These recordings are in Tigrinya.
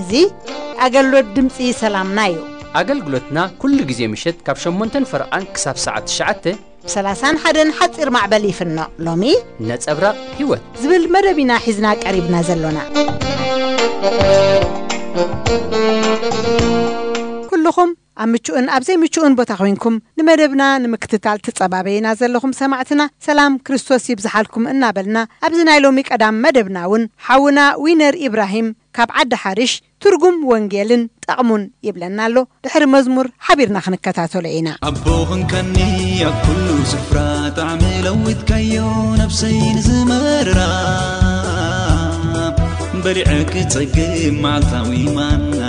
እዚ ኣገልግሎት ድምፂ ሰላምና እዩ። ኣገልግሎትና ኩሉ ግዜ ምሸት ካብ ሸሞንተን ፈረቓን ክሳብ ሰዓት ትሽዓተ ብ ሰላሳን ሓደን ሓፂር ማዕበል ይፍኖ። ሎሚ ነጸብራቕ ህይወት ዝብል መደብ ኢና ሒዝና ቀሪብና ዘሎና። ኩልኹም ኣብ ምቹእን ኣብ ዘይምቹእን ቦታ ኮይንኩም ንመደብና ንምክትታል ትጸባበዩና ዘለኹም ሰማዕትና፣ ሰላም ክርስቶስ ይብዝሓልኩም እናበልና፣ ኣብዚ ናይ ሎሚ ቀዳም መደብና እውን ሓውና ዊነር ኢብራሂም ካብ ዓዲ ሓሪሽ ትርጉም ወንጌልን ጠቕሙን ይብለና ኣሎ። ድሕሪ መዝሙር ሓቢርና ክንከታተሎ ኢና። ኣቦ ኾንካኒ ኣብ ኩሉ ስፍራ፣ ጣዕሚ ለዊጥካዮ ነብሰይ ንዝመርራ። በሊዐ ክጸግብ መዓልታዊ ማና፣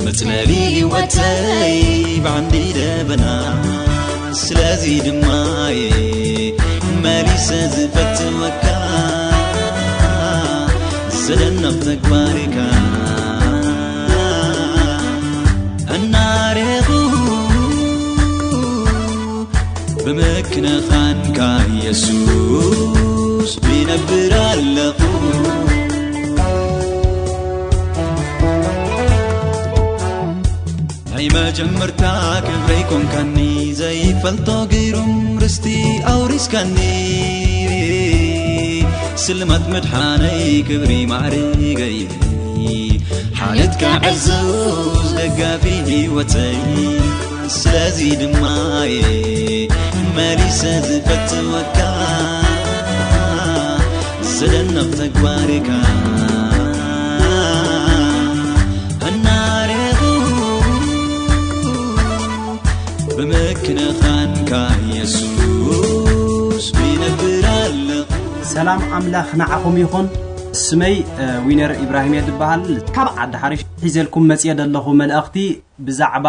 መጽለሊ ህይወተይ ብዓንዲ ደበና። ስለዚ ድማ እየ መሊሰ ዝፈትወካ፣ ዘደንቕ ተግባርካ እናረኹ፣ ብምክንኻንካ የሱስ ይነብር ኣለኹ። ናይ መጀመርታ ክብረይ ኮንካኒ፣ ዘይፈልጦ ግሩም ርስቲ ኣውሪስካኒ። ስልማት መድሓነይ ክብሪ ማዕርገይ፣ ሓልዮትካ ዕዙዝ ደጋፊ ህይወተይ። ስለዚ ድማ እየ መሊሰ ዝፈትወካ፣ ዘደንቕ ተግባርካ እናረኹ፣ ብምክንኻንካ የሱስ ይነብር ኣለኹ። ሰላም ኣምላኽ ንዓኹም ይኹን። ስመይ፣ እ፣ ዊነር ኢብራሂም እየ ዝበሃል። ካብ ዓዲ ሓሪሽ ሒዘልኩም መጽየ ዘለኹ መልእኽቲ ብዛዕባ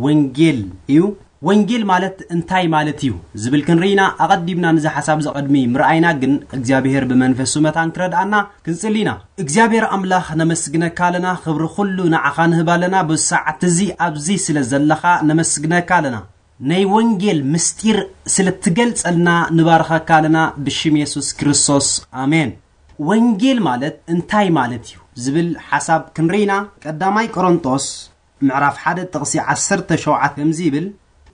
ወንጌል እዩ። ወንጌል ማለት እንታይ ማለት እዩ ዝብል ክንርኢና፣ ኣቐዲምና ንዚ ሓሳብ እዚ ቅድሚ ምርኣይና ግን እግዚኣብሔር ብመንፈሱ መታን ክረድኣና ክንጽሊ ኢና። እግዚኣብሔር ኣምላኽ ነመስግነካ ኣለና፣ ክብሪ ኩሉ ንዓኻ ንህብ ኣለና። ብሰዓት እዚ ኣብዚ ስለ ዘለኻ ነመስግነካ ኣለና። ናይ ወንጌል ምስጢር ስለ ትገልጸልና ንባርኸካ ኣለና ብሽም የሱስ ክርስቶስ። ኣሜን። ወንጌል ማለት እንታይ ማለት እዩ ዝብል ሓሳብ ክንርኢና፣ ቀዳማይ ቆሮንጦስ ምዕራፍ ሓደ ጥቕሲ ዓሰርተ ሸውዓተ ከምዚ ይብል፣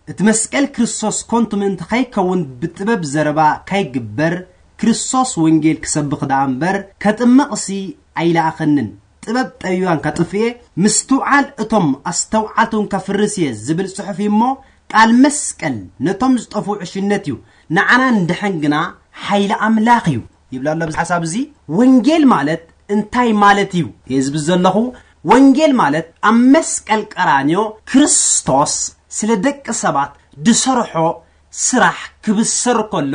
"እቲ መስቀል ክርስቶስ ኮንቱ ምእንቲ ከይከውን ብጥበብ ዘረባ ከይግበር ክርስቶስ ወንጌል ክሰብኽ ደኣ እምበር ከጥምቕሲ ኣይለኣኸንን። ጥበብ ጠቢባን ከጥፍኤ ምስትውዓል እቶም ኣስተውዓልቱን ከፍርስ እየ ዝብል ጽሑፍ እዩ እሞ፣ ቃል መስቀል ነቶም ዝጠፍኡ ዕሽነት እዩ፣ ንዓና እንድሕን ግና ሓይሊ ኣምላኽ እዩ" ይብል ኣሎ። ኣብዚ ሓሳብ እዚ ወንጌል ማለት እንታይ ማለት እዩ እየ ዝብል ዘለኹ። ወንጌል ማለት ኣብ መስቀል ቀራንዮ ክርስቶስ ስለ ደቂ ሰባት ድሰርሖ ስራሕ ክብሰር ከሎ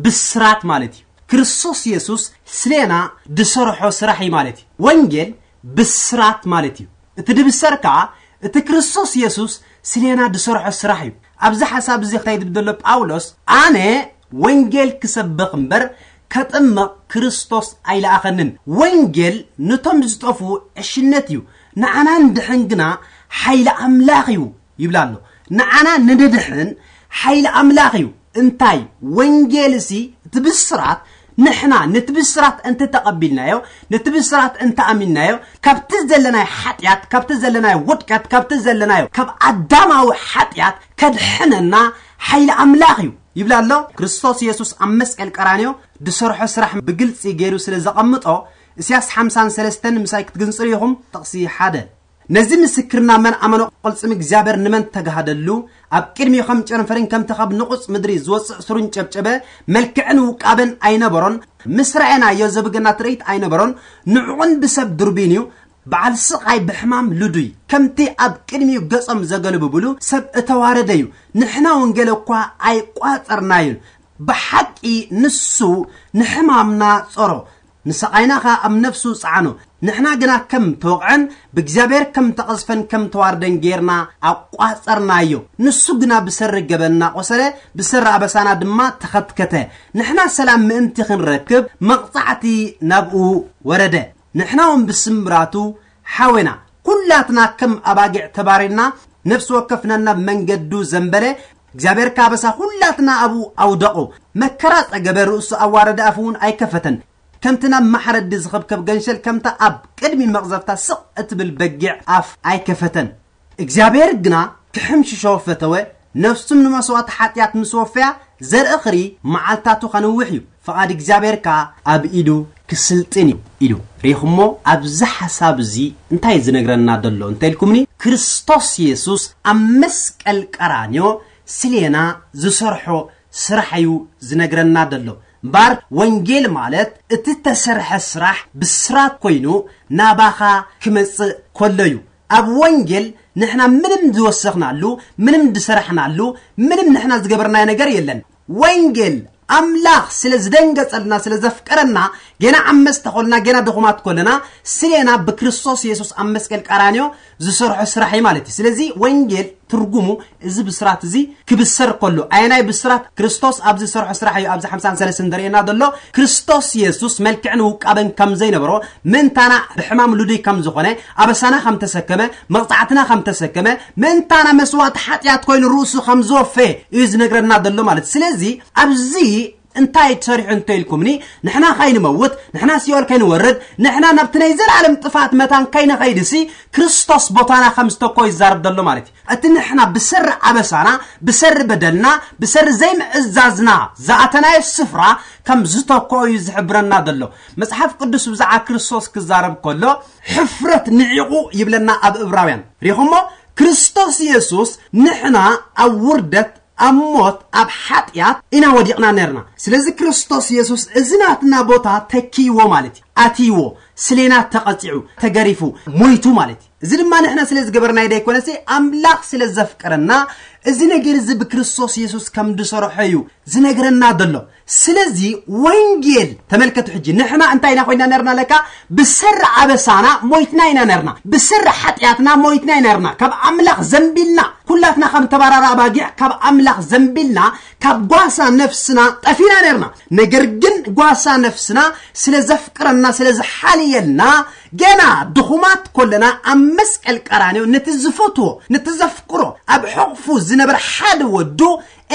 ብስራት ማለት እዩ። ክርስቶስ የሱስ ስሌና ድሰርሖ ስራሕ እዩ ማለት እዩ። ወንጌል ብስራት ማለት እዩ። እቲ ድብሰር ከኣ እቲ ክርስቶስ የሱስ ስሌና ድሰርሖ ስራሕ እዩ። ኣብዚ ሓሳብ እዚ እንታይ ይብል ዘሎ ጳውሎስ? "ኣነ ወንጌል ክሰብኽ እምበር ከጥምቕ ክርስቶስ ኣይለኣኸንን። ወንጌል ነቶም ዝጠፍኡ ዕሽነት እዩ፣ ንዓና እንድሕን ግና ሓይሊ ኣምላኽ እዩ" ይብል ኣሎ። ንዓና ንድድሕን ሓይሊ ኣምላኽ እዩ። እንታይ? ወንጌል እሲ እቲ ብስራት፣ ንሕና ነቲ ብስራት እንተ ተቐቢልናዮ፣ ነቲ ብስራት እንተ ኣሚንናዮ፣ ካብቲ ዘለናዮ ሓጢኣት፣ ካብቲ ዘለናዮ ውድቀት፣ ካብቲ ዘለናዮ ካብ ኣዳማዊ ሓጢኣት ከድሕነና ሓይሊ ኣምላኽ እዩ ይብል ኣሎ። ክርስቶስ የሱስ ኣብ መስቀል ቀራንዮ ድሰርሖ ስራሕ ብግልጺ ገይሩ ስለ ዘቐምጦ፣ እስያስ ሓምሳን ሰለስተን ምሳይ ክትግንጽሩ ኢኹም። ጥቕሲ ሓደ፣ "ነዚ ምስክርና መን ኣመኖ ቅልጽም እግዚኣብሔር ንመን ተጋህደሉ? ኣብ ቅድሚኡ ከም ጨንፈርን ከምቲ ካብ ንቑጽ ምድሪ ዝወጽእ ስሩን ጨብጨበ፣ መልክዕን ውቃበን ኣይነበሮን። ምስ ረኣናዮ ዘብገና ትርኢት ኣይነበሮን። ንዕቑን ብሰብ ድርቢን እዩ። በዓል ስቓይ ብሕማም ልዱይ። ከምቲ ኣብ ቅድሚኡ ገጾም ዘገልብብሉ ሰብ እተዋረደ እዩ። ንሕና ወንጌል እኳ ኣይቋጸርናዮን። ብሓቂ ንሱ ንሕማምና ጾሮ። ንሰቓይና ኸኣ ኣብ ነፍሱ ጸዓኖ። ንሕና ግና ከም ተወቕዐን ብእግዚኣብሔር ከም ተቐዝፈን ከም ተዋርደን ጌርና ኣቋጸርናዮ። ንሱ ግና ብሰሪ ገበን እናቖሰለ፣ ብሰሪ ኣበሳና ድማ ተኸትከተ። ንሕና ሰላም ምእንቲ ክንረክብ መቕጻዕቲ ናብኡ ወረደ። ንሕና እውን ብስምብራቱ ሓዌና። ኩላትና ከም ኣባጊዕ ተባሪርና፣ ነፍሲ ወከፍ ነናብ መንገዱ ዘንበለ። እግዚኣብሔር ከኣ ኣበሳ ኩላትና ኣብኡ ኣውደቖ። መከራ ጸገበ፣ ርእሱ ኣዋረደ፣ ኣፉ እውን ኣይከፈተን። ከምቲ ናብ ማሕረዲ ዝኸብከብ ገንሸል፣ ከምታ ኣብ ቅድሚ መቕዘፍታ ስቕ እትብል በጊዕ ኣፍ ኣይከፈተን። እግዚኣብሔር ግና ክሕምሽሾ ፈተወ። ነፍሱም ንመስዋእቲ ሓጢኣት ምስ ወፈያ፣ ዘርኢ ኽሪ መዓልታቱ ከንውሕ እዩ፣ ፍቓድ እግዚኣብሔር ከኣ ኣብ ኢዱ ክስልጥን እዩ ኢሉ። ርኢኹሞ? ኣብዚ ሓሳብ እዚ እንታይ ዝነግረና ዘሎ እንተ ኢልኩምኒ፣ ክርስቶስ የሱስ ኣብ መስቀል ቀራንዮ ስሌና ዝሰርሖ ስራሕ እዩ ዝነግረና ዘሎ። እምበኣር ወንጌል ማለት እቲ ተሰርሐ ስራሕ ብስራት ኮይኑ ናባኻ ክመጽእ ከሎ እዩ። ኣብ ወንጌል ንሕና ምንም ዝወሰኽናሉ፣ ምንም ዝሰራሕናሉ፣ ምንም ንሕና ዝገበርናዮ ነገር የለን። ወንጌል ኣምላኽ ስለ ዝደንገጸልና፣ ስለ ዘፍቀረና፣ ገና ዓመጽቲ ኮልና፣ ገና ድኹማት ኮለና፣ ስሌና ብክርስቶስ የሱስ ኣብ መስቀል ቀራንዮ ዝሰርሖ ስራሕ እዩ ማለት እዩ። ስለዚ ወንጌል ትርጉሙ እዚ ብስራት እዚ ክብሰር ከሎ፣ ኣየናይ ብስራት? ክርስቶስ ኣብ ዝሰርሖ ስራሕ እዩ። ኣብዚ ሓምሳን ሰለስተን ዘርእየና ዘሎ፣ ክርስቶስ የሱስ መልክዕን ውቃበን ከም ዘይነበሮ፣ ምእንታና ብሕማም ልዱይ ከም ዝኾነ፣ ኣበሳና ከም ተሰከመ፣ መቕጻዕትና ከም ተሰከመ፣ ምእንታና መስዋእቲ ሓጢኣት ኮይኑ ርእሱ ከም ዝወፈየ እዩ ዝነግረና ዘሎ ማለት። ስለዚ ኣብዚ እንታይ ተሰሪሑ እንተ ኢልኩምኒ፣ ንሕና ከይንመውት፣ ንሕና ሲኦል ከይንወርድ፣ ንሕና ናብቲ ናይ ዘላለም ጥፋት መታን ከይንኸይድሲ፣ ክርስቶስ ቦታና ከም ዝተኮ ይዛረብ ዘሎ ማለት እዩ። እቲ ንሕና ብሰሪ ኣበሳና፣ ብሰሪ በደልና፣ ብሰሪ ዘይምእዛዝና ዝኣተናዮ ስፍራ ከም ዝተኮ እዩ ዝሕብረና ዘሎ። መጽሓፍ ቅዱስ ብዛዕባ ክርስቶስ ክዛረብ ከሎ፣ ሕፍረት ንዒቑ ይብለና ኣብ እብራውያን። ሪኹሞ? ክርስቶስ የሱስ ንሕና ኣብ ውርደት፣ ኣብ ሞት፣ ኣብ ሓጢኣት ኢና ወዲቕና ነርና። ስለዚ ክርስቶስ የሱስ እዚ ናትና ቦታ ተኪይዎ ማለት እዩ። ኣትይዎ፣ ስሌና ተቐጺዑ፣ ተገሪፉ፣ ሞይቱ ማለት እዩ። እዚ ድማ ንሕና ስለ ዝገበርናዮ ደይኮነሲ፣ ኣምላኽ ስለ ዘፍቀረና፣ እዚ ነገር እዚ ብክርስቶስ የሱስ ከም ዝሰርሖ እዩ ዝነግረና ዘሎ። ስለዚ ወንጌል፣ ተመልከቱ ሕጂ፣ ንሕና እንታይ ኢና ኮይና ነርና ለካ? ብሰሪ ኣበሳና ሞይትና ኢና ነርና። ብሰሪ ሓጢኣትና ሞይትና ኢና ነርና። ካብ ኣምላኽ ዘንቢልና፣ ኩላትና ከም ተባራራ ኣባጊዕ ካብ ኣምላኽ ዘንቢልና፣ ካብ ጓሳ ነፍስና ጠፊና ነርና። ነገር ግን ጓሳ ነፍስና ስለ ዘፍቅረና፣ ስለ ዝሓልየልና፣ ገና ድኹማት ኮለና ኣብ መስቀል ቀራንዮ ነቲ ዝፈትዎ፣ ነቲ ዘፍቅሮ፣ ኣብ ሕቕፉ ዝነበረ ሓደ ወዱ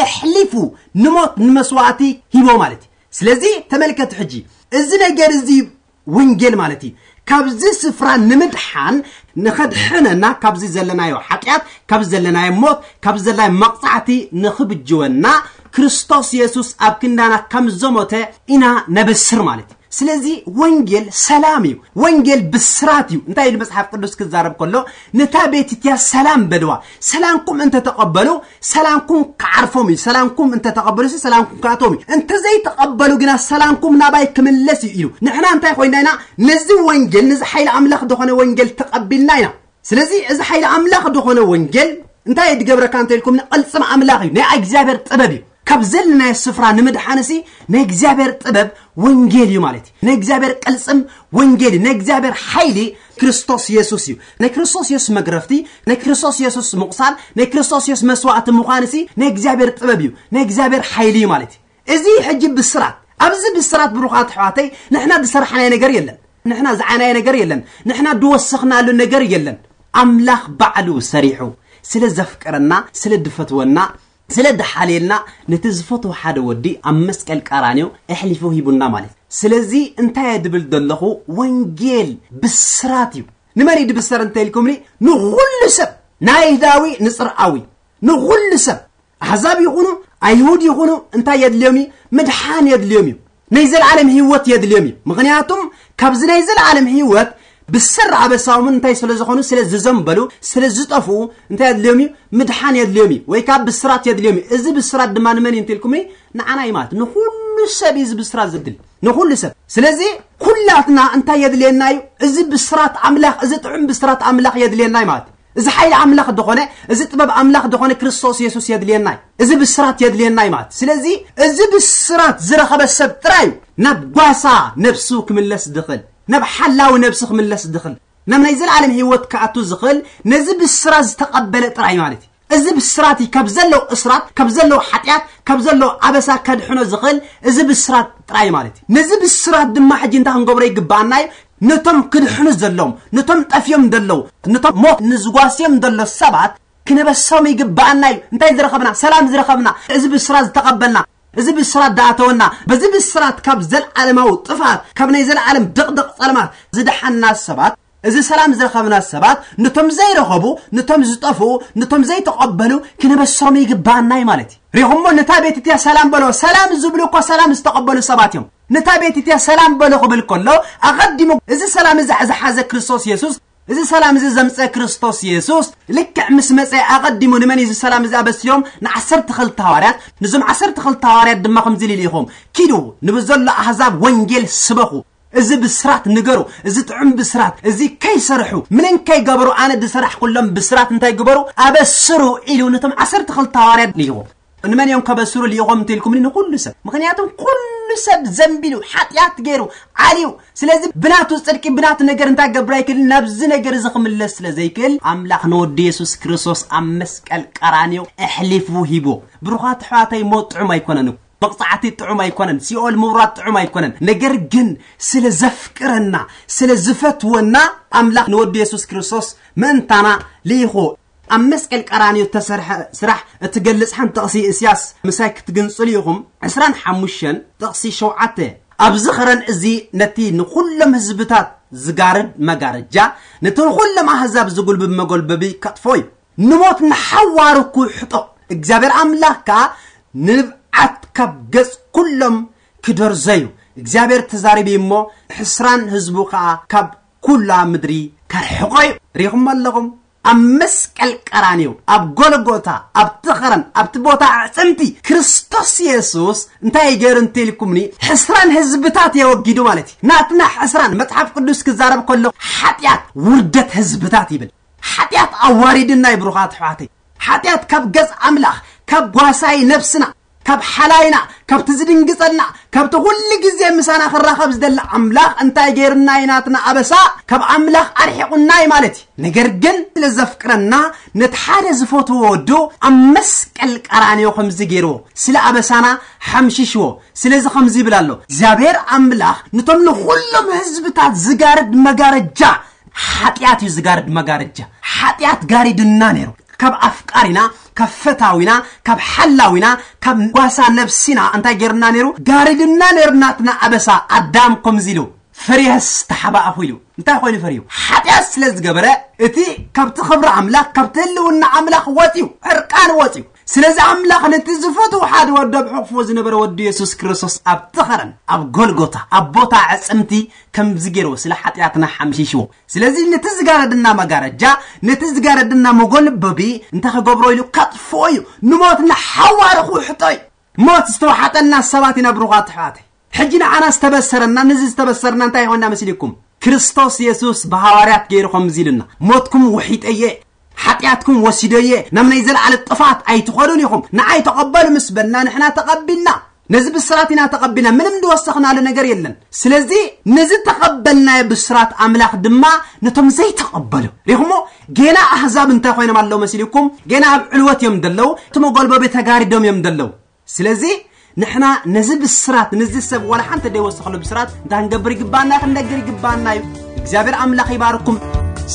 ኣሕሊፉ ንሞት ንመስዋእቲ ሂቦ ማለት እዩ። ስለዚ ተመልከቱ ሕጂ፣ እዚ ነገር እዚ ወንጌል ማለት እዩ። ካብዚ ስፍራ ንምድሓን፣ ንኸድሕነና፣ ካብዚ ዘለናዮ ሓጢኣት፣ ካብዚ ዘለናዮ ሞት፣ ካብዚ ዘለናዮ መቕጻዕቲ ንኽብጅወና፣ ክርስቶስ የሱስ ኣብ ክንዳና ከም ዘሞተ ኢና ነበስር ማለት እዩ። ስለዚ ወንጌል ሰላም እዩ። ወንጌል ብስራት እዩ። እንታይ ኢሉ መጽሓፍ ቅዱስ ክዛረብ ከሎ፣ ነታ ቤት እቲያ ሰላም በልዋ። ሰላምኩም እንተተቐበሉ፣ ሰላምኩም ክዓርፎም እዩ። ሰላምኩም እንተተቐበሉ፣ ሰላምኩም ክኣቶም እዩ። እንተዘይተቐበሉ ግና፣ ሰላምኩም ናባይ ክምለስ እዩ ኢሉ። ንሕና እንታይ ኮይና ኢና? ነዚ ወንጌል፣ ነዚ ሓይሊ ኣምላኽ ዝኾነ ወንጌል ተቐቢልና ኢና። ስለዚ እዚ ሓይሊ ኣምላኽ ዝኾነ ወንጌል እንታይ ድገብረካ እንተ ኢልኩም፣ ንቕልጽም ኣምላኽ እዩ። ናይ እግዚኣብሔር ጥበብ እዩ። ካብ ዘለናዮ ስፍራ ንምድሓንሲ ናይ እግዚኣብሔር ጥበብ ወንጌል እዩ ማለት እዩ። ናይ እግዚኣብሔር ቅልጽም ወንጌል እዩ። ናይ እግዚኣብሔር ሓይሊ ክርስቶስ የሱስ እዩ። ናይ ክርስቶስ የሱስ መግረፍቲ፣ ናይ ክርስቶስ የሱስ ምቑሳል፣ ናይ ክርስቶስ የሱስ መስዋእቲ ምዃንሲ ናይ እግዚኣብሔር ጥበብ እዩ። ናይ እግዚኣብሔር ሓይሊ እዩ ማለት እዩ። እዚ ሕጂ ብስራት፣ ኣብዚ ብስራት ብሩኻት ኣሕዋተይ፣ ንሕና ዝሰራሕናዮ ነገር የለን። ንሕና ዝዓናዮ ነገር የለን። ንሕና ድወሰኽናሉ ነገር የለን። ኣምላኽ ባዕሉ ሰሪሑ ስለ ዘፍቀረና፣ ስለ ድፈትወና፣ ስለ ድሓልየልና፣ ነቲ ዝፈትዎ ሓደ ወዲ ኣብ መስቀል ቀራንዮ ኣሕሊፉ ሂቡና ማለት እዩ። ስለዚ እንታይ እየ ድብል ዘለኹ? ወንጌል ብስራት እዩ። ንመን እዩ ድብሰር እንተ ኢልኩምኒ፣ ንኹሉ ሰብ፣ ንኣይሁዳዊ ንጽርኣዊ፣ ንኹሉ ሰብ፣ ኣሕዛብ ይኹኑ ኣይሁድ ይኹኑ፣ እንታይ የድልዮም እዩ? ምድሓን የድልዮም እዩ። ናይ ዘለዓለም ህይወት የድልዮም እዩ። ምኽንያቱም ካብዚ ናይ ዘለዓለም ህይወት ብሰሪ ኣበሳኦም እንታይ ስለ ዝኾኑ፣ ስለ ዝዘንበሉ፣ ስለ ዝጠፍኡ፣ እንታይ የድልዮም እዩ? ምድሓን የድልዮም እዩ፣ ወይ ካብ ብስራት የድልዮም እዩ። እዚ ብስራት ድማ ንመን እዩ እንተ ኢልኩምኒ፣ ንዓና እዩ ማለት። ንኹሉ ሰብ እዩ እዚ ብስራት ዘድሊ፣ ንኹሉ ሰብ። ስለዚ ኩላትና እንታይ የድልየና እዩ? እዚ ብስራት ኣምላኽ፣ እዚ ጥዑም ብስራት ኣምላኽ የድልየና እዩ ማለት። እዚ ሓይሊ ኣምላኽ ዝኾነ፣ እዚ ጥበብ ኣምላኽ ዝኾነ ክርስቶስ የሱስ የድልየናይ፣ እዚ ብስራት የድልየናይ ማለት። ስለዚ እዚ ብስራት ዝረኸበ ሰብ ጥራይ እዩ ናብ ጓሳ ነብሱ ክምለስ ዝኽእል፣ ናብ ሓላዊ ነብሱ ክምለስ ዝኽእል፣ ናብ ናይ ዘለዓለም ህይወት ክኣቱ ዝኽእል፣ ነዚ ብስራት ዝተቐበለ ጥራይ ማለት እዩ። እዚ ብስራት እዩ ካብ ዘለዉ እስራት፣ ካብ ዘለዉ ሓጢኣት፣ ካብ ዘለዉ ኣበሳ ከድሕኖ ዝኽእል እዚ ብስራት ጥራይ ማለት እዩ። ነዚ ብስራት ድማ ሕጂ እንታይ ክንገብሮ ይግባኣና እዩ? ነቶም ክድሕኑ ዘለዎም፣ ነቶም ጠፍዮም ዘለዉ፣ ነቶም ሞት ንዝጓስዮም ዘሎ ሰባት ክነበሶም ይግባኣና እዩ። እንታይ ዝረኸብና? ሰላም ዝረኸብና፣ እዚ ብስራት ዝተቐበልና፣ እዚ ብስራት ዝኣተወና፣ በዚ ብስራት ካብ ዘለዓለማዊ ጥፋት፣ ካብ ናይ ዘለዓለም ድቕድቕ ጸልማት ዝደሓንና ሰባት፣ እዚ ሰላም ዝረኸብና ሰባት፣ ነቶም ዘይረኸቡ፣ ነቶም ዝጠፍኡ፣ ነቶም ዘይተቐበሉ ክነበሶም ይግባኣና እዩ ማለት እዩ። ሪኹሞ፣ ነታ ቤት እትያ ሰላም በሎ። ሰላም ዝብሉ እኮ ሰላም ዝተቐበሉ ሰባት እዮም። ነታ ቤት እትያ ሰላም በሎ ክብል ከሎ፣ ኣቐዲሙ እዚ ሰላም እዚ ዝሓዘ ክርስቶስ የሱስ፣ እዚ ሰላም እዚ ዘምፀ ክርስቶስ የሱስ ልክዕ ምስ መፀ ኣቐዲሙ ንመን እዩ እዚ ሰላም እዚ ኣበሲሮም? ንዓሰርተ ክልተ ሃዋርያት። ንዞም ዓሰርተ ክልተ ሃዋርያት ድማ ከምዚ ኢሉ ይልኢኹም፣ ኪዱ ንብዘሎ ኣህዛብ ወንጌል ስበኹ። እዚ ብስራት ንገሩ፣ እዚ ጥዑም ብስራት፣ እዚ ከይሰርሑ፣ ምንም ከይገበሩ፣ ኣነ ዝሰራሕኩሎም ብስራት እንታይ ግበሩ? ኣበስሩ ኢሉ ነቶም ዓሰርተ ክልተ ሃዋርያት ልኢኹም። ንመን እዮም ከበስሩ ልኢኾም እንተኢልኩምኒ? ንኹሉ ሰብ። ምኽንያቱም ኩሉ ሰብ ዘንቢሉ፣ ሓጢኣት ገይሩ፣ ዓልዩ። ስለዚ ብናቱ ጽድቂ፣ ብናቱ ነገር እንታይ ገብር ኣይክእልን? ናብዚ ነገር እዚ ክምለስ ስለ ዘይክእል፣ ኣምላኽ ንወዲ የሱስ ክርስቶስ ኣብ መስቀል ቀራንዮ ኣሕሊፉ ሂቦ። ብሩኻት ኣሕዋተይ፣ ሞት ጥዑም ኣይኮነን። መቕጻዕቲ ጥዑም ኣይኮነን። ሲኦል ምውራድ ጥዑም ኣይኮነን። ነገር ግን ስለ ዘፍቅረና፣ ስለ ዝፈትወና፣ ኣምላኽ ንወዲ የሱስ ክርስቶስ ምእንታና ልኢኹ። ኣብ መስቀል ቀራንዮ እተሰርሐ ስራሕ እትገልጽ ሓንቲ ጥቕሲ እስያስ ምሳይ ክትግንጽሉ ኢኹም። ዕስራን ሓሙሽተን ጥቕሲ ሸውዓተ። ኣብዚ ኸረን እዚ ነቲ ንኹሎም ህዝብታት ዝጋርድ መጋረጃ፣ ነቲ ንኹሎም ኣህዛብ ዝጉልብብ መጎልበቢ ከጥፎ እዩ። ንሞት ንሓዋሩ ክውሕጦ፣ እግዚኣብሔር ኣምላኽ ከኣ ንብዓት ካብ ገጽ ኩሎም ክደርዞ እዩ። እግዚኣብሔር ተዛሪቡ እሞ፣ ሕስራን ህዝቡ ከኣ ካብ ኩላ ምድሪ ከርሕቆ እዩ። ሪኹም ኣለኹም? ኣብ መስቀል ቀራንዮ፣ ኣብ ጎልጎታ፣ ኣብቲ ኸረን፣ ኣብቲ ቦታ ኣዕጽምቲ፣ ክርስቶስ የሱስ እንታይ ገይሩ እንተኢልኩምኒ፣ ሕስራን ህዝብታት የወጊዱ ማለት እዩ። ናትና ሕስራን፣ መጽሓፍ ቅዱስ ክዛረብ ከሎ፣ ሓጢኣት ውርደት ህዝብታት ይብል። ሓጢኣት ኣዋሪድና እዩ፣ ብሩኻት ኣሕዋተይ። ሓጢኣት ካብ ገጽ ኣምላኽ፣ ካብ ጓሳይ ነብስና፣ ካብ ሓላይና፣ ካብቲ ዝድንግጸልና፣ ካብቲ ኩሉ ግዜ ምሳና ክራኸብ ዝደሊ ኣምላኽ እንታይ ገይሩና እዩ? ናትና ኣበሳ ካብ ኣምላኽ ኣርሒቑና እዩ ማለት እዩ። ነገር ግን ስለ ዘፍቅረና ነቲ ሓደ ዝፈትዎ ወዱ ኣብ መስቀል ቀራንዮ ከምዚ ገይርዎ፣ ስለ ኣበሳና ሓምሽሽዎ። ስለዚ ከምዚ ይብል ኣሎ፣ እግዚኣብሔር ኣምላኽ ነቶም ንኹሎም ህዝብታት ዝጋርድ መጋረጃ፣ ሓጢኣት እዩ ዝጋርድ መጋረጃ፣ ሓጢኣት ጋሪድና ነይሩ። ካብ ኣፍቃሪና፣ ካብ ፈታዊና፣ ካብ ሓላዊና፣ ካብ ጓሳ ነብሲና እንታይ ገይርና ነይሩ? ጋሪድና ነይሩ። ናትና ኣበሳ ኣዳም ከምዚ ኢሉ ፈሪሀስ ተሓባእኹ ኢሉ። እንታይ ኮይኑ ፈሪሁ? ሓጢኣት ስለ ዝገበረ እቲ ካብቲ ክብሪ ኣምላኽ፣ ካብቲ ህልውና ኣምላኽ ወፂኡ፣ ዕርቃን ወፂኡ። ስለዚ ኣምላኽ ነቲ ዝፈትዎ ሓደ ወዱ ኣብ ሕቑፎ ዝነበረ ወዱ የሱስ ክርስቶስ ኣብቲ ኸረን፣ ኣብ ጎልጎታ፣ ኣብ ቦታ ዕጽምቲ ከምዚ ገይርዎ ስለ ሓጢኣትና ሓምሺሽዎ። ስለዚ ነቲ ዝጋረድና መጋረጃ፣ ነቲ ዝጋረድና መጎልበቢ እንታይ ክገብሮ ኢሉ? ከጥፍኦ እዩ። ንሞት ንሓዋሩ ክውሕጦ እዩ። ሞት ዝተዋሓጠልና ሰባት ኢና ብሩኻት ኣሕዋተይ። ሕጂ ንዓና ዝተበሰረና፣ ነዚ ዝተበሰርና እንታይ ይኾንና መሲልኩም? ክርስቶስ የሱስ ብሃዋርያት ገይሩ ከምዚ ኢሉና፣ ሞትኩም ውሒጠየ፣ ሓጢኣትኩም ወሲደየ፣ ናብ ናይ ዘለዓለም ጥፋት ኣይትኸዱን ኢኹም፣ ንዓይ ተቐበሉ ምስ በልና ንሕና ተቐቢልና። ነዚ ብስራት ኢና ተቐቢልና፣ ምንም ዝወሰኽናሉ ነገር የለን። ስለዚ ነዚ ተቐበልናዮ ብስራት ኣምላኽ ድማ ነቶም ዘይተቐበሉ፣ ሪኹሞ፣ ጌና ኣህዛብ እንታይ ኮይኖም ኣለዉ መሲልኩም? ጌና ኣብ ዕልወት እዮም ዘለዉ፣ እቲ መጎልበቢ ተጋሪዶም እዮም ዘለዉ። ስለዚ ንሕና ነዚ ብስራት፣ ነዚ ሰብ ዋላ ሓንቲ ዘይወሰኸሉ ብስራት እንታይ ክንገብር ይግባና? ክንነግር ይግባና እዩ። እግዚኣብሔር ኣምላኽ ይባርኩም።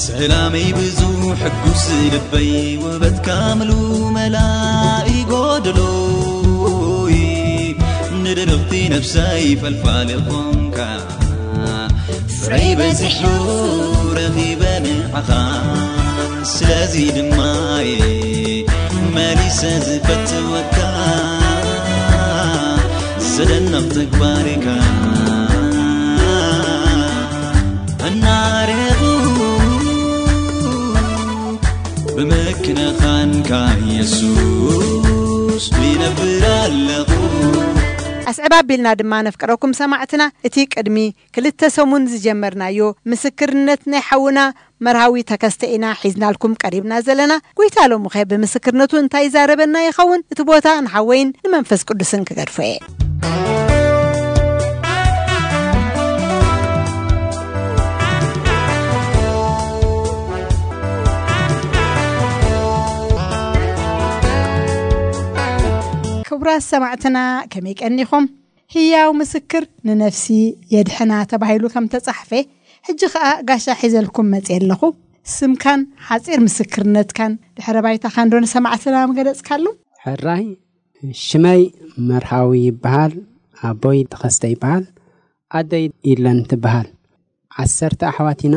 ሰላመይ ብዙ ሕጉስ ልበይ ውበትካ ምሉ መላኢ ጎደሎይ ንድርቕቲ ነብሰይ ፈልፋሊ ኾንካ ፍረይ በዚሑ ረኺበ ንዓኻ ስለዚ ድማ እየ መሊሰ ዝፈትወካ ዘደንቕ ተግባርካ እናረኹ ብምክንኻንካ የሱስ ይነብር ኣለኹ። ኣስዕብ ባቢልና ድማ ነፍቅረኩም ሰማዕትና፣ እቲ ቅድሚ ክልተ ሰሙን ዝጀመርናዮ ምስክርነት ናይ ሓውና መርሃዊ ተከስተ ኢና ሒዝናልኩም ቀሪብና ዘለና። ጎይታ ሎምኸ ብምስክርነቱ እንታይ ይዛረበና ይኸውን? እቲ ቦታ ንሓወይን ንመንፈስ ቅዱስን ክገድፎ እየ። ክቡራት ሰማዕትና፣ ከመይ ቀኒኹም? ህያው ምስክር ንነፍሲ የድሕና ተባሂሉ ከም ተጻሕፈ፣ ሕጂ ኸኣ ጋሻ ሒዘልኩም መጽየ ኣለኹ። ስምካን ሓጺር ምስክርነትካን ድሕረ ባይታኻን ዶ ንሰማዕትና ምገለጽካሉ? ሕራይ፣ ሽመይ መርሃዊ ይበሃል፣ ኣቦይ ተኸስተ ይበሃል፣ ኣደይ ኢለን ትበሃል። ዓሰርተ ኣሕዋት ኢና፣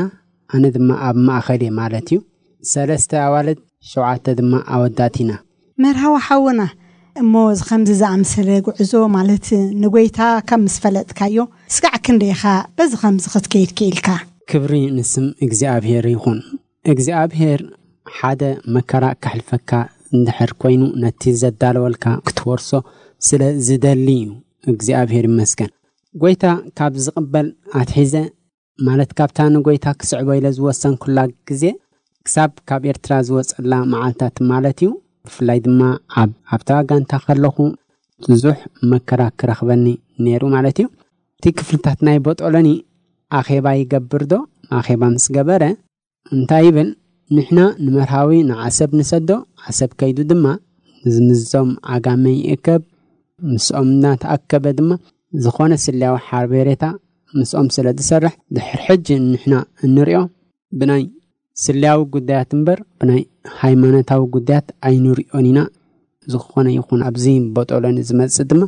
ኣነ ድማ ኣብ ማእኸል እየ ማለት እዩ። ሰለስተ ኣዋልድ፣ ሸውዓተ ድማ ኣወዳት ኢና። መርሃዊ ሓውና፣ እሞ እዚ ከምዚ ዝኣምሰለ ጉዕዞ ማለት ንጎይታ ከም ምስ ፈለጥካዮ፣ ስጋዕ ክንደይ ኢኻ በዚ ከምዚ ክትከይድ ክኢልካ? ክብሪ ንስም እግዚኣብሔር ይኹን። እግዚኣብሔር ሓደ መከራ ከሕልፈካ እንድሕር ኮይኑ፣ ነቲ ዘዳለወልካ ክትወርሶ ስለ ዝደሊ እዩ። እግዚኣብሔር ይመስገን። ጎይታ ካብ ዝቕበል ኣትሒዘ፣ ማለት ካብታ ንጎይታ ክስዕቦ ኢለ ዝወሰንኩላ ግዜ፣ ክሳብ ካብ ኤርትራ ዝወጸላ መዓልታት ማለት እዩ። ብፍላይ ድማ ኣብ፣ ኣብታ ጋንታ ከለኹ ብዙሕ መከራ ክረኽበኒ ነይሩ ማለት እዩ። እቲ ክፍልታት ናይ ቦጦሎኒ ኣኼባ ይገብር ዶ? ኣኼባ ምስ ገበረ እንታይ ይብል? ንሕና ንመርሃዊ ንዓሰብ ንሰዶ፣ ዓሰብ ከይዱ ድማ ምስ፣ ምስዞም ዓጋመ ይእከብ። ምስኦም እናተኣከበ ድማ ዝኾነ ስለያዊ ሓበሬታ ምስኦም ስለ ዝሰርሕ፣ ድሕር ሕጂ ንሕና እንሪኦ ብናይ ስለያዊ ጉዳያት እምበር ብናይ ሃይማኖታዊ ጉዳያት ኣይንሪኦን ኢና። ዝኾነ ይኹን ኣብዚ ቦጦሎኒ ዝመጽእ ድማ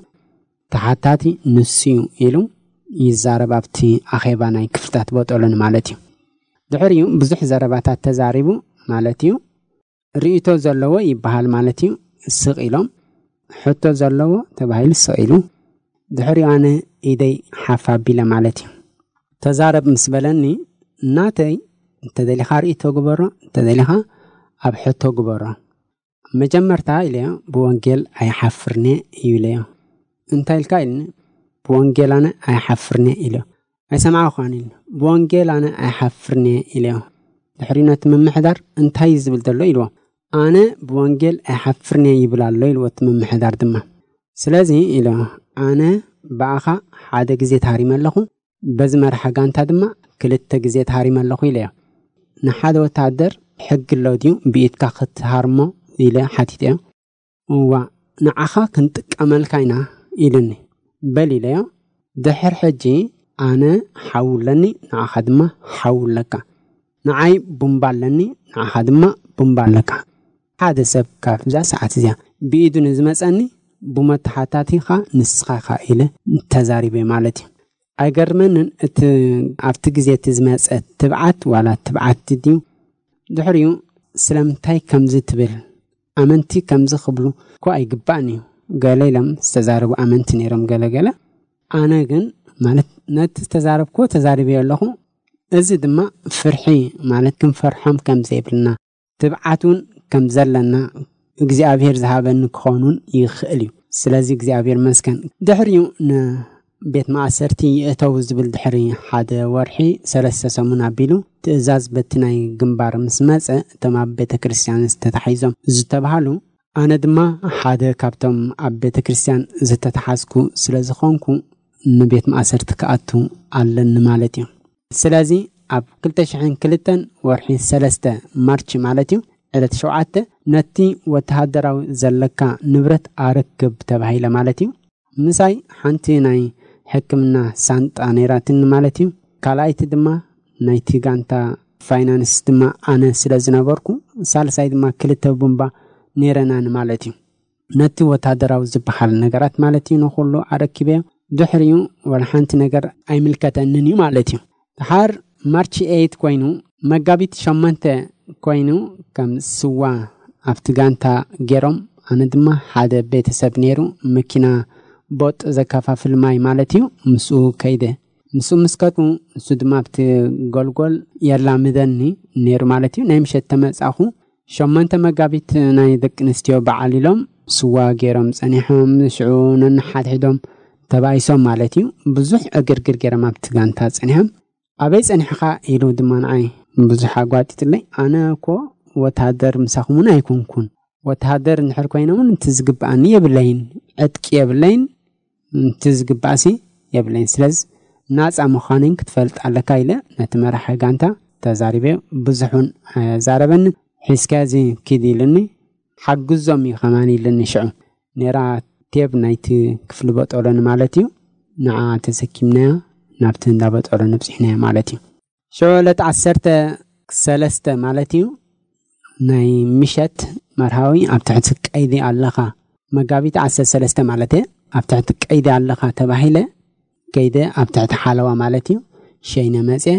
ተሓታቲ ንሱ እዩ ኢሉ ይዛረብ፣ ኣብቲ ኣኼባ ናይ ክፍልታት ቦጦሎኒ ማለት እዩ። ድሕሪኡ ብዙሕ ዘረባታት ተዛሪቡ ማለት እዩ። ርእይቶ ዘለዎ ይበሃል ማለት እዩ። ስቕ ኢሎም፣ ሕቶ ዘለዎ ተባሂሉ ስቕ ኢሉ። ድሕሪኡ ኣነ ኢደይ ሓፍ ኣቢለ ማለት እዩ። ተዛረብ ምስ በለኒ፣ ናተይ እንተደሊኻ ርእይቶ ግበሮ፣ እንተደሊኻ ኣብ ሕቶ ግበሮ። መጀመርታ ኢለዮ፣ ብወንጌል ኣይሓፍርን'የ እዩ ኢለዮ። እንታይ ኢልካ ኢልኒ? ብወንጌል ኣነ ኣይሓፍርን'የ ኢለዮ። ኣይሰማዕኳን ኢልኒ። ብወንጌል ኣነ ኣይሓፍርን'የ ኢለዮ። ድሕሪ ነቲ ምምሕዳር እንታይ እዩ ዝብል ዘሎ ኢልዎ። ኣነ ብወንጌል ኣይሓፍርን'የ ይብል ኣሎ ኢልዎ እቲ ምምሕዳር ድማ። ስለዚ ኢለዮ፣ ኣነ ብኣኻ ሓደ ግዜ ተሃሪመ ኣለኹ፣ በዚ መራሒ ጋንታ ድማ ክልተ ግዜ ተሃሪመ ኣለኹ ኢለዮ። ንሓደ ወተሃደር ሕጊ ኣሎ ድዩ ብኢድካ ክትሃርሞ ኢለ ሓቲተዮ። እዋ፣ ንዓኻ ክንጥቀመልካ ኢና ኢሉኒ። በል ኢለዮ። ድሕር ሕጂ ኣነ ሓው ኣለኒ፣ ንዓኻ ድማ ሓው ኣለካ። ንዓይ ቡምባ ኣለኒ፣ ንዓኻ ድማ ቡምባ ኣለካ። ሓደ ሰብ ካብዛ ሰዓት እዚኣ ብኢዱ ንዝመጸኒ ብመተሓታቲኻ ንስኻ ኢኻ ኢለ ተዛሪበ ማለት እዩ። ኣይገርመንን፣ እቲ ኣብቲ ግዜ እቲ ዝመጸ ትብዓት ዋላ ትብዓት ድዩ? ድሕሪኡ ስለምንታይ ከምዚ ትብል? ኣመንቲ ከምዚ ክብሉ እኮ ኣይግባእን እዩ። ገለ ኢሎም ዝተዛረቡ ኣመንቲ ነይሮም ገለ ገለ። ኣነ ግን ማለት ነቲ ዝተዛረብክዎ ተዛሪበዮ ኣለኹ። እዚ ድማ ፍርሒ ማለት ክንፈርሖም ከም ዘይብልና፣ ትብዓት እውን ከም ዘለና እግዚኣብሔር ዝሃበኒ ክኸውን እውን ይኽእል እዩ። ስለዚ እግዚኣብሔር መስገን። ድሕሪኡ ንቤት ማእሰርቲ ይእተው ዝብል ድሕሪ ሓደ ወርሒ ሰለስተ ሰሙን ኣቢሉ ትእዛዝ በቲ ናይ ግንባር ምስ መጸ እቶም ኣብ ቤተ ክርስቲያን ዝተታሒዞም ዝተባሃሉ ኣነ ድማ ሓደ ካብቶም ኣብ ቤተ ክርስቲያን ዝተታሓዝኩ ስለ ዝኾንኩ ንቤት ማእሰርቲ ክኣቱ ኣለኒ ማለት እዩ። ስለዚ ኣብ ክልተ ሽሕን ክልተን ወርሒ ሰለስተ ማርች ማለት እዩ ዕለት ሸውዓተ ነቲ ወተሃደራዊ ዘለካ ንብረት ኣረክብ ተባሂለ ማለት እዩ። ምሳይ ሓንቲ ናይ ሕክምና ሳንጣ ነይራትኒ ማለት እዩ። ካልኣይቲ ድማ ናይቲ ጋንታ ፋይናንስ ድማ ኣነ ስለ ዝነበርኩ ሳልሳይ ድማ ክልተ ቡምባ ነይረናኒ ማለት እዩ። ነቲ ወታደራዊ ዝበሃል ነገራት ማለት እዩ ንኹሉ ኣረኪበዮ። ድሕሪኡ ወላ ሓንቲ ነገር ኣይምልከተንን እዩ ማለት እዩ። ድሓር ማርች ኤይት ኮይኑ መጋቢት ሸሞንተ ኮይኑ ከም ስዋ ኣብቲ ጋንታ ገይሮም ኣነ ድማ ሓደ ቤተሰብ ነይሩ መኪና ቦጥ ዘከፋፍል ማይ ማለት እዩ ምስኡ ከይደ። ምስኡ ምስ ከድኩ ንሱ ድማ ኣብቲ ጎልጎል የላምደኒ ነይሩ ማለት እዩ። ናይ ምሸት ተመጻኹ ሸሞንተ መጋቢት ናይ ደቂ ኣንስትዮ በዓል ኢሎም ስዋ ገይሮም ጸኒሖም። ሽዑ ነንሓድሕዶም ተባኢሶም ማለት እዩ። ብዙሕ ዕግርግር ገይሮም ኣብቲ ጋንታ ጸኒሖም። "ኣበይ ጸኒሕኻ?" ኢሉ ድማ ንዓይ ብዙሕ ኣጓጢጥለይ። "ኣነ እኮ ወተሃደር ምሳኹም እውን ኣይኮንኩን። ወተሃደር እንድሕር ኮይነ እውን እቲ ዝግብኣኒ የብለይን፣ ዕጥቂ የብለይን፣ እቲ ዝግባእሲ የብለይን። ስለዚ ናጻ ምዃነይን ክትፈልጥ ኣለካ" ኢለ ነቲ መራሒ ጋንታ ተዛሪበ። ብዙሕ እውን ኣዛረበኒ። "ሒዝካዚ ኪድ" ኢሉኒ። "ሓግዞም እዩ ከማን" ኢሉኒ። ሽዑ ነራ ቴብ ናይቲ ክፍሊ በጦሎኒ ማለት እዩ። ንዓ ተሰኪምናያ ናብቲ እንዳ በጦሎኒ ኣብጺሕናያ ማለት እዩ። ሽዑ ዕለት ዓሰርተ ሰለስተ ማለት እዩ፣ ናይ ምሸት መርሃዊ "ኣብ ትሕቲ ቀይዲ ኣለኻ"፣ መጋቢት ዓሰርተ ሰለስተ ማለት እየ፣ "ኣብ ትሕቲ ቀይዲ ኣለኻ" ተባሂለ ከይደ ኣብ ትሕቲ ሓለዋ ማለት እዩ። ሸይነ መጽየ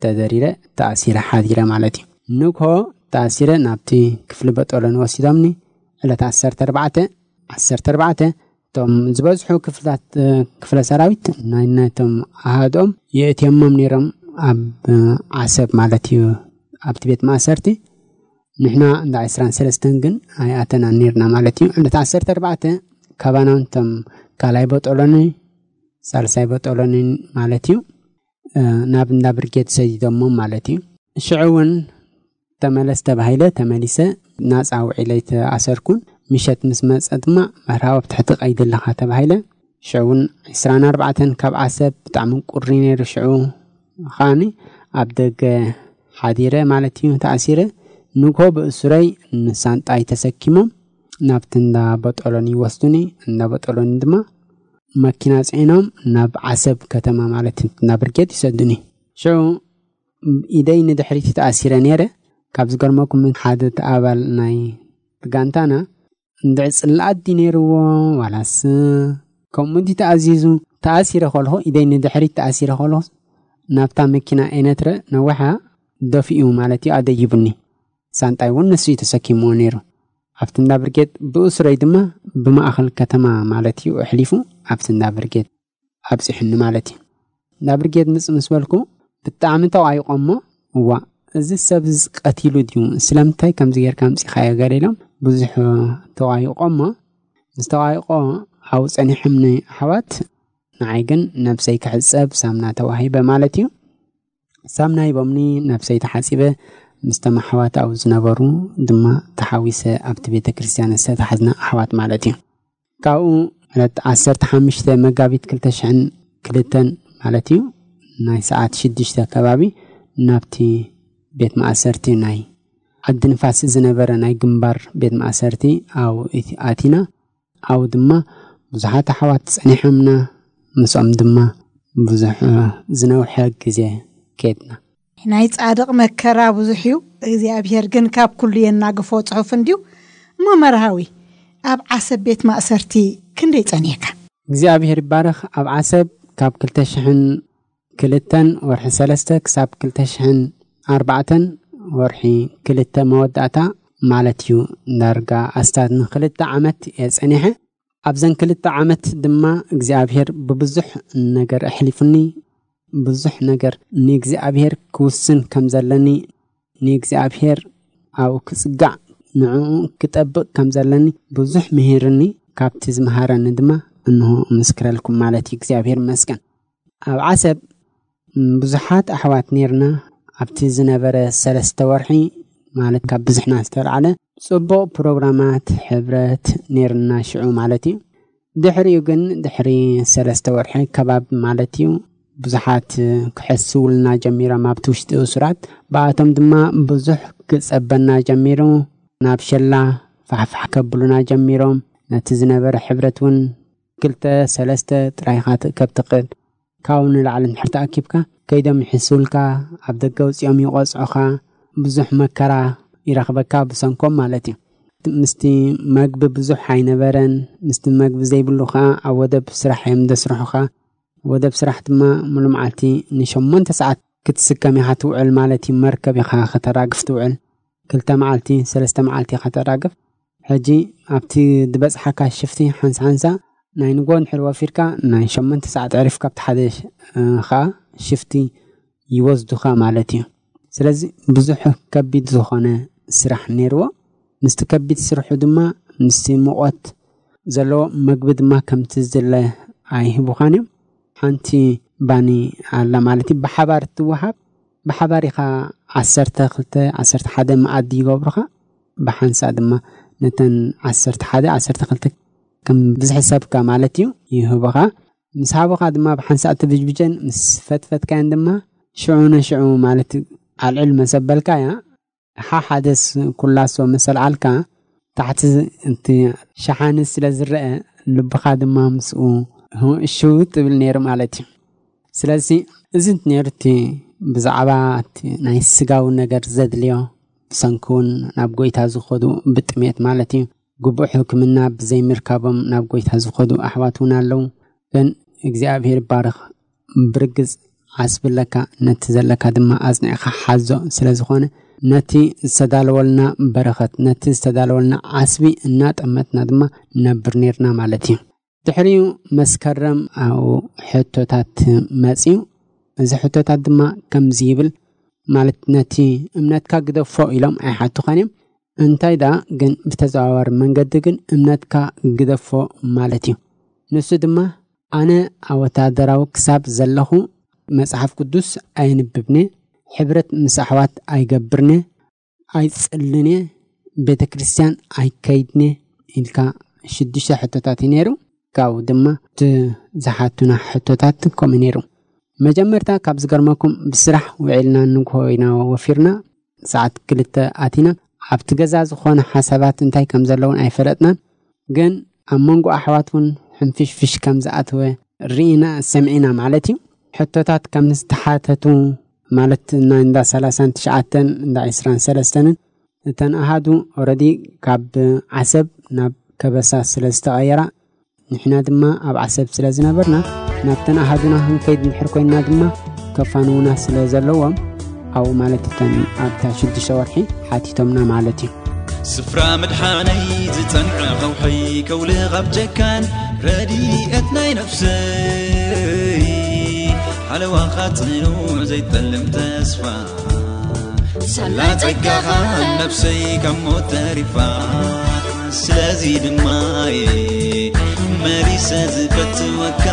ተደሪረ ተኣሲረ ሓዲረ ማለት እዩ። ንግሆ ተኣሲረ ናብቲ ክፍሊ በጦሎኒ ወሲዶምኒ። ዕለት ዓሰርተ ኣርባዕተ፣ ዓሰርተ ኣርባዕተ እቶም ዝበዝሑ ክፍልታት፣ እ፣ ክፍለ ሰራዊት ናይ ናይቶም ኣሃዶም የእትዮሞም ነይሮም ኣብ፣ እ፣ ዓሰብ ማለት እዩ፣ ኣብቲ ቤት ማእሰርቲ። ንሕና እንዳ ዕስራን ሰለስተን ግን ኣይኣተናን ነይርና ማለት እዩ። ዕለት ዓሰርተ ኣርባዕተ ካባና እቶም ካልኣይ በጦሎኒ፣ ሳልሳይ በጦሎኒ ማለት እዩ፣ እ፣ ናብ እንዳ ብርጌድ ሰዲዶሞም ማለት እዩ። ሽዑ እውን "ተመለስ" ተባሂለ ተመሊሰ። ናጻ ውዒለ ኣይተኣሰርኩን። ምሸት ምስ መጸ ድማ "መርሃዊ ኣብ ትሕቲ ቀይዲ ኣለኻ" ተባሂለ። ሽዑ እውን ዕስራን ኣርባዕተን ካብ ዓሰብ ብጣዕሚ ቁሪ ነይሩ። ሽዑ ከዓኒ ኣብ ደገ ሓዲረ ማለት እዩ፣ ተኣሲረ። ንግሆ ብእሱረይ ንሳንጣይ ተሰኪሞም ናብቲ እንዳ በጦሎኒ ይወስዱኒ። እንዳ በጦሎኒ ድማ መኪና ጽዒኖም ናብ ዓሰብ ከተማ ማለት እዩ፣ ናብ ብርጌድ ይሰዱኒ። ሽዑ ኢደይ ንድሕሪት ተኣሲረ ነይረ። ካብ ዝገርመኩም ሓደ ኣባል ናይ ጋንታና እንድዒ ጽላኣት ድዩ ነይርዎ ዋላስ ከምኡ ድዩ ተኣዚዙ? ተኣሲረ ከለኹ፣ ኢደይ ንድሕሪት ተኣሲረ ከለኹ ናብታ መኪና ኤነትረ ነዊሓ ደፊኡ ማለት እዩ ኣደይቡኒ። ሳንጣይ እውን ንሱ እዩ ተሰኪምዎ ነይሩ። ኣብቲ እንዳ ብርጌድ ብእሱረይ ድማ ብማእኸል ከተማ ማለት እዩ ኣሕሊፉ ኣብቲ እንዳ ብርጌድ ኣብጺሑኒ ማለት እዩ። እንዳ ብርጌድ ምጽእ ምስ በልኩ ብጣዕሚ ተቋይቆ እሞ፣ "እዋ፣ እዚ ሰብ እዚ ቀቲሉ ድዩ? ስለምንታይ ከምዚ ጌርካ ኣምጺኻዮ?" ገለ ኢሎም ብዙሕ ተቋይቆ እሞ፣ ምስ ተቋይቆ ኣብኡ ጸኒሖምኒ ኣሕዋት፣ ንዓይ ግን ነብሰይ ክሕጸብ ሳምና ተዋሂበ ማለት እዩ። ሳምና ሂቦምኒ፣ ነብሰይ ተሓጺበ፣ ምስቶም ኣሕዋት ኣብኡ ዝነበሩ ድማ ተሓዊሰ ኣብቲ ቤተ ክርስቲያን ዝተታሕዝና ኣሕዋት ማለት እዩ። ካብኡ ዕለት ዓሰርተ ሓሙሽተ መጋቢት ክልተ ሽሕን ክልተን ማለት እዩ፣ ናይ ሰዓት ሽዱሽተ ከባቢ ናብቲ ቤት ማእሰርቲ ናይ ዓዲ ንፋስ ዝነበረ ናይ ግንባር ቤት ማእሰርቲ ኣብኡ እቲ-፣ ኣቲና። ኣብኡ ድማ ብዙሓት ኣሕዋት ጸኒሖምና፣ ምስኦም ድማ ብዙሕ፣ እ፣ ዝነውሐ ግዜ ከድና። ናይ ጻድቕ መከራ ብዙሕ እዩ፣ እግዚኣብሔር ግን ካብ ኩሉ የናግፎ ጽሑፍ እንድዩ። እሞ መርሃዊ፣ ኣብ ዓሰብ ቤት ማእሰርቲ ክንደይ ጸኒሕካ? እግዚኣብሔር ይባረኽ። ኣብ ዓሰብ ካብ ክልተ ሽሕን ክልተን ወርሒ ሰለስተ ክሳብ ክልተ ሽሕን ኣርባዕተን ወርሒ ክልተ መወዳእታ ማለት እዩ። ዳርጋ ኣስታት ንክልተ ዓመት እየ ጸኒሐ። ኣብዘን ክልተ ዓመት ድማ እግዚኣብሔር ብብዙሕ ነገር ኣሕሊፉኒ። ብዙሕ ነገር ንእግዚኣብሔር ክውስን ከም ዘለኒ፣ ንእግዚኣብሔር ኣብኡ ክጽጋዕ፣ ንዕኡ ክጠብቕ ከም ዘለኒ ብዙሕ ምሂርኒ። ካብቲ ዝመሃረኒ ድማ እንሆ እምስክረልኩም ማለት እዩ። እግዚኣብሔር ይመስገን። ኣብ ዓሰብ ብዙሓት ኣሕዋት ኔርና። ኣብቲ ዝነበረ ሰለስተ ወርሒ፣ ማለት ካብ ብዝሕና ዝተልዓለ፣ ጽቡቕ ፕሮግራማት ሕብረት ኔርና ሽዑ ማለት እዩ። ድሕሪኡ ግን፣ ድሕሪ ሰለስተ ወርሒ ከባቢ ማለት እዩ፣ ብዙሓት ክሕስውልና ጀሚሮም ኣብቲ ውሽጢ እሱራት። ብኣቶም ድማ ብዙሕ ክጸበና ጀሚሩ። ናብ ሸላ ፋሕፋሕ ከብሉና ጀሚሮም። ነቲ ዝነበረ ሕብረት እውን ክልተ ሰለስተ ጥራይ ኢኻ ትእከብ ትኽእል። ካብኡ ንላዕሊ እንድሕር ተኣኪብካ፣ ከይዶም ይሕስውልካ፣ ኣብ ደገ ኣውጺኦም ይቖጽዑኻ፣ ብዙሕ መከራ ይረኽበካ ብሰንኮም ማለት እዩ። ምስቲ መግቢ ብዙሕ ኣይነበረን። ምስቲ መግቢ ዘይብሉ ኸኣ ኣብ ወደብ ስራሕ እዮም ዘስርሑኻ። ወደብ ስራሕ ድማ ሙሉ መዓልቲ ንሸሞንተ ሰዓት ክትስከም ኢኻ ትውዕል ማለት እዩ። መርከብ ኢኻ ከተራግፍ ትውዕል። ክልተ መዓልቲ፣ ሰለስተ መዓልቲ ኢኻ ተራግፍ። ሕጂ ኣብቲ ዝበጽሓካ ሽፍቲ ሓንሳ ሓንሳ ናይ ንግሆ እንድሕር ወፊርካ፣ ናይ ሸሞንተ ሰዓት ዕሪፍካ ኣብቲ ሓደ ሽ-፣ እ፣ ኸኣ ሽፍቲ ይወስዱኻ ማለት እዩ። ስለዚ ብዙሕ ከቢድ ዝኾነ ስራሕ ነይርዎ። ምስቲ ከቢድ ስርሑ ድማ ምስቲ ሙቐት ዘለዎ መግቢ ድማ ከምቲ ዝድለ ኣይህቡኻን እዮም። ሓንቲ ባኒ ኣላ ማለት እዩ፣ ብሓባር እትወሃብ። ብሓባር ኢኻ ዓሰርተ ክልተ፣ ዓሰርተ ሓደ መኣዲ ይገብሩኻ። ብሓንሳእ ድማ ነተን ዓሰርተ ሓደ፣ ዓሰርተ ክልተ ከም ብዝሒ ሰብካ ማለት እዩ ይህቡኻ። ምስ ሃቡኻ ድማ ብሓንሳእ ትብጅብጀን ምስ ፈትፈትካየን ድማ ሽዑ ንሽዑ ማለት ኣልዕል መሰበልካ እያ። ሓሓደስ ኩላሶ መሰል ዓልካ ታሕቲ እቲ ሸሓኒ ስለ ዝረአ ልብኻ ድማ ምስኡ እሽው ትብል ነይሩ ማለት እዩ። ስለዚ እዚ ነይሩ እቲ ብዛዕባ እቲ ናይ ስጋዊ ነገር ዘድልዮ ብሰንኪ እውን ናብ ጎይታ ዝኸዱ ብጥሜት ማለት እዩ። ግቡእ ሕክምና ብዘይምርካቦም ናብ ጎይታ ዝኸዱ ኣሕዋት እውን ኣለዉ። ግን እግዚኣብሔር ይባረኽ። ብርግጽ ዓስቢ ኣለካ፣ ነቲ ዘለካ ድማ ኣጽኒዕካ ሓዞ። ስለ ዝኾነ ነቲ ዝተዳለወልና በረኸት፣ ነቲ ዝተዳለወልና ዓስቢ እናጠመትና ድማ ነብር ኔርና ማለት እዩ። ድሕሪኡ መስከረም ኣብኡ ሕቶታት መጽዩ። እዚ ሕቶታት ድማ ከምዚ ይብል፣ ማለት ነቲ እምነትካ ግደፎ ኢሎም ኣይሓቱኻን እዮም። እንታይ ደኣ ግን ብተዘዋዋሪ መንገዲ ግን እምነትካ ግደፎ ማለት እዩ። ንሱ ድማ ኣነ ኣብ ወታደራዊ ክሳብ ዘለኹ መጽሓፍ ቅዱስ ኣይንብብን፣ ሕብረት ምስ ኣሕዋት ኣይገብርን፣ ኣይጽልን፣ ቤተ ክርስቲያን ኣይከይድን ኢልካ ሽዱሽተ ሕቶታት እዩ ነይሩ። ካብኡ ድማ እቲ ዝሓቱና ሕቶታት ከምኡ ነይሩ። መጀመርታ ካብ ዝገርመኩም ብስራሕ ውዒልና ንግሆ ኢና ወፊርና፣ ሰዓት ክልተ ኣቲና። ኣብቲ ገዛ ዝኾነ ሓሳባት እንታይ ከም ዘለውን ኣይፈለጥናን፣ ግን ኣብ መንጎ ኣሕዋት እውን ሕንፍሽፍሽ ከም ዝኣተወ ርኢና ሰሚዕና ማለት እዩ። ሕቶታት ከም ዝተሓተቱ ማለት ናይ እንዳ ሰላሳን ትሽዓተን እንዳ ዕስራን ሰለስተንን እተን ኣሃዱ ኦረዲ ካብ ዓሰብ ናብ ከበሳ ስለ ዝተቐየራ ንሕና ድማ ኣብ ዓሰብ ስለ ዝነበርና ናብተን ኣሃዱና ክንከይድ እንድሕር ኮይንና ድማ ከፋንዉና ስለ ዘለዎም ኣብኡ ማለት እተን ኣብታ ሽዱሽተ ወርሒ ሓቲቶምና ማለት እዩ። ስፍራ ምድሓነይ ዝጸንዐ ኸውሒ ከውልቕ ኣብ ጨካን ረድኤት ናይ ነፍሰይ ሓለዋኻ ጽኑዕ ዘይጠልም ተስፋ ሳላ ጸጋኻ ነፍሰይ ካብ ሞት ተሪፋ። ስለዚ ድማ እየ መሊሰ ዝፈትወካ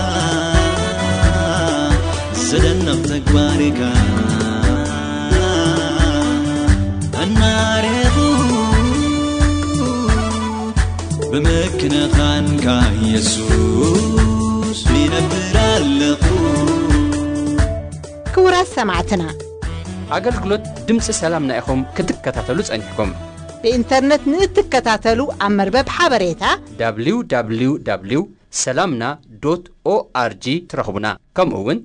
ዘደንቕ ተግባርካ ኣናሬኹ ብምክንኻንካ የሱስ ይነብር ኣለኹ። ክቡራት ሰማዕትና፣ ኣገልግሎት ድምፂ ሰላምና ኢኹም ክትከታተሉ ጸኒሕኩም። ብኢንተርነት ንእትከታተሉ ኣብ መርበብ ሓበሬታ www ሰላምና ዶት ኦኣርጂ ትረኽቡና። ከምኡ እውን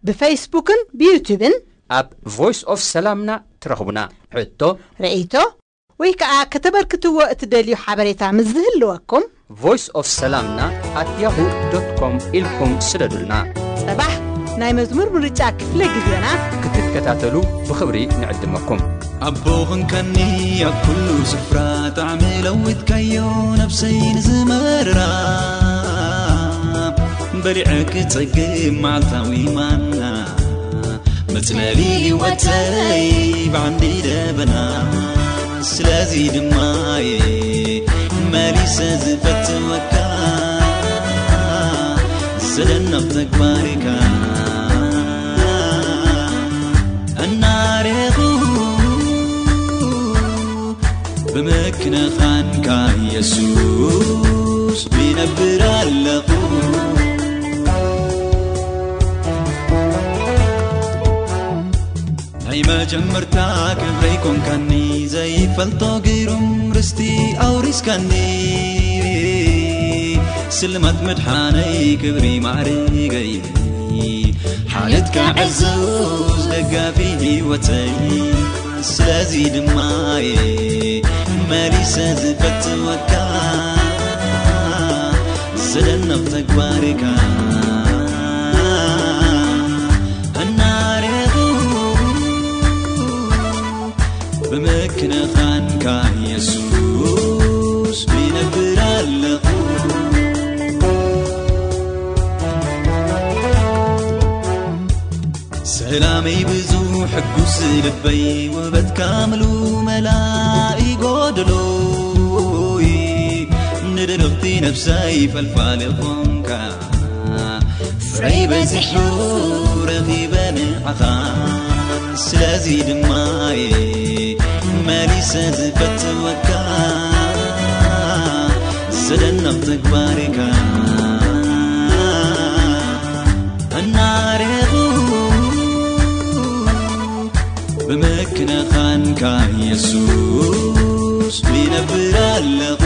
ብፌስቡክን ብዩቱብን ኣብ ቮይስ ኦፍ ሰላምና ትረኽቡና። ሕቶ ርእይቶ ወይ ከዓ ከተበርክትዎ እትደልዩ ሓበሬታ ምስ ዝህልወኩም ቮይስ ኦፍ ሰላምና ኣት ያሁ ዶት ኮም ኢልኩም ስደዱልና። ጽባሕ ናይ መዝሙር ምርጫ ክፍለ ግዜና ክትከታተሉ ብኽብሪ ንዕድመኩም። ኣቦ ኾንካኒ ኣብ ኩሉ ስፍራ ጣዕሚ ለዊጥካዮ ነብሰይ ንዝመራ በሊዐ ክጸግብ መዓልታዊ ማና መጽለሊ ህይወተይ ብዓንዲ ደበና ስለዚ ድማ እየ መሊሰ ዝፈትወካ ዘደንቕ ተግባርካ እናሬኹ ብምክንኻንካ የሱስ ይነብር ኣለኹ። ናይ መጀመርታ ክብረይ ኮንካኒ ዘይፈልጦ ግሩም ርስቲ ኣውሪስካኒ ስልማት መድሓነይ ክብሪ ማዕርገይ ሓልየትካ ዕዙዝ ደጋፊ ህይወተይ ስለዚ ድማ እየ መሊሰ ዝፈትወካ ዘደንቕ ተግባርካ እናሬኹ ብምክንኻንካ የሱስ ይነብር ኣለኹ። ሰላመይ ብዙ ሕጉስ ልበይ ውበትካ ምሉ መላኢ ጎደሎይ ንድርቕቲ ነፍሰይ ፈልፋሊ ኾንካ ፍቕረይ በዚሑ ረኺበ ንዓኻ፣ ስለዚ ድማ እየ መሊሰ ዝፈትወካ። ዘደንቕ ተግባርካ እናረኹ፣ ብምክንኻንካ የሱስ ይነብር ኣለኹ።